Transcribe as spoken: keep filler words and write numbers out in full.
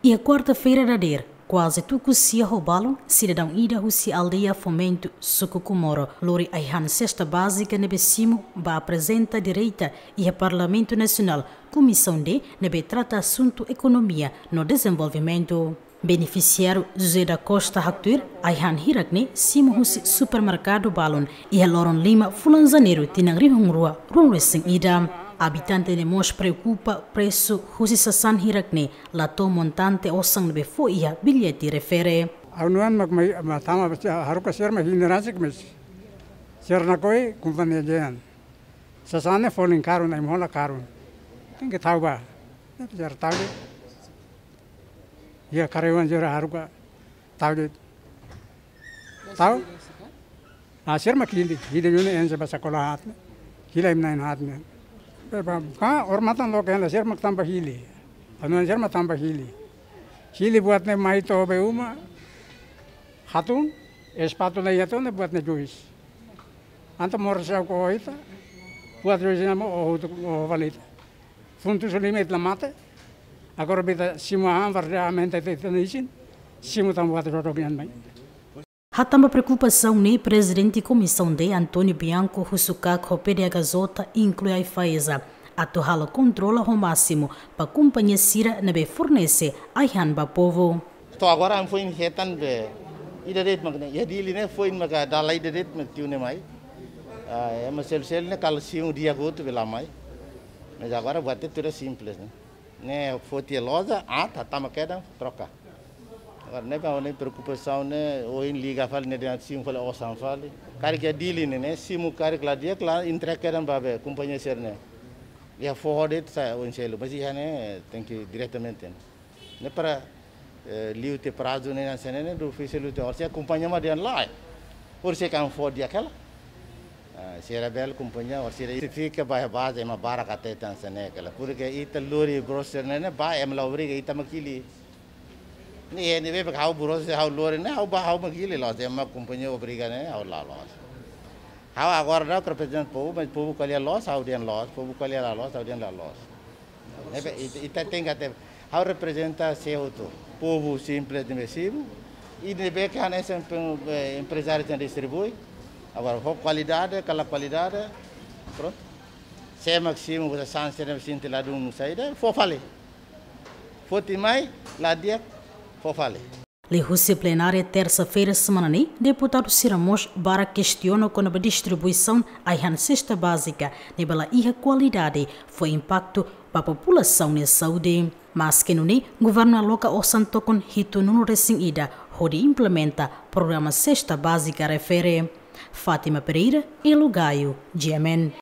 Iha kuarta-feira dadeer, kuaze tuku sia ho balun, sidadaun ida husi aldeia Fomento, suku Comoro, lori ai-han sesta bázika ne'ebé simu ba aprezenta direta iha Parlamentu Nasionál, Komisaun D, ne'ebé trata asuntu ekonomia no dezenvolvimentu. Benefisiáriu José da Costa haktuir, ai-han hirak-ne'e simu husi supermerkadu balun iha loron lima fulan Janeiru tinan rihun rua ruanulu-resin-ida. Abitante ne'e mós preokupa presu husi sasán hirak-ne'e, la to'o montante osan ne'ebé fó iha billete refere. Ha'u hanoin mak mai, mak tama ba sira, haruka sira mak hili rasik, mas sira nakoi kompañia dehan. Sasán ne'e folin karun, ai-han hola karun. Tenke tau ba. Ne'e sira tau de'it. Iha karyawan sira haruka tau de'it. Tau? Ah, sira mak hili, hili duni ense ba sakola haat ne'e. Hili ai-na'in haat ne'e. Be ba, ka, odamatan loke hela sira mak tanba hili. Anu sira mak tanba hili. Hili buat ne'e mai to'o be uma. Hatun, espátula iha to'o ne'e buat ne'e juis. Entaun moris ha'u ho ita, buat juis ne'e mak oho tu, oho fali ita. Funtu sulime ita la mate. Agora ita simu an, warda aumenta ita, ita-nia isin. Simu tan buat dodok nian mai. Hatán ba preokupasaun ne'e, Prezidente Komisaun D, António Bianco, husu KAK ho PDHJ, inklui AIFAESA, atu halo kontrola ho másimu ba kompañia sira ne'ebé fornese ai-han ba povu. To'o agora ami foin hetan be ida de'it mak ne'e, iha Dili ne'e foin maka dala ida de'it mak tiu ne'e mai. Ah, ema selu-selu ne'e kala simu di'ak hotu be la mai. Mas agora buat ne'e tuir simples ne'e. Ne'e foti iha loja, ah, hatama kedan, troka. Agora ne'ebé ha'u-nia preokupasaun ne'e, ohin liga fali ne'e dehan simu fali osan fali. Karik iha Dili ne'e, ne'e simu karik la di'ak la entrega kedan ba be kompañia sira-ne'e. Iha foho de'it sai oin selu, mas iha ne'e tenke diretamente. Ne'e para, eh, liu tiha prazu ne'e hanesan ne'e, ne'e difísil liu tiha. Orsida kompañia mak dehan lae. Orsida ami fó di'ak hela. Ah, sira bele kompañia, orsida sira fika ba baze ema barak hatete hanesan ne'e hela. Porke ita lori burosa ne'e, ne'e ba ema la obriga ita mak hili. Ne'e, ne'ebé ha'u burosa ha'u lori ne'e, ha'u ba ha'u mak hili, la'ós ema kompañia obriga ne'e, ha'u la loos. Ha'u agora daudaun reprezenta povu, mas povu ko'alia loos, ha'u dehan loos, povu ko'alia la loos, ha'u dehan la loos. Ne'ebé, ita, ita tenke hatene, ha'u reprezenta sé hotu, povu simples ne'ebé simu, i ne'ebé ke hanesan pe-, eh, emprezáriu tenke distribui, agora ho kualidade, ka la kualidade, prontu. Sé mak simu, sasán sira ne'ebé sente ladún saida, fó fali. Foti mai, la di'ak, fó fali. Liuhusi plenária tersa-feira semana ne'e, deputadu sira mós barak kestiona kona-ba distribuisaun ai-han sesta bázika ne'ebé la iha kualidade, fó impaktu ba populasaun nia saúde. Maske nune'e, governu aloka osan tokon hitunulu-resin-ida hodi implementa programa sesta bázika refere. Fátima Pereira, Elo Gaio, G M N.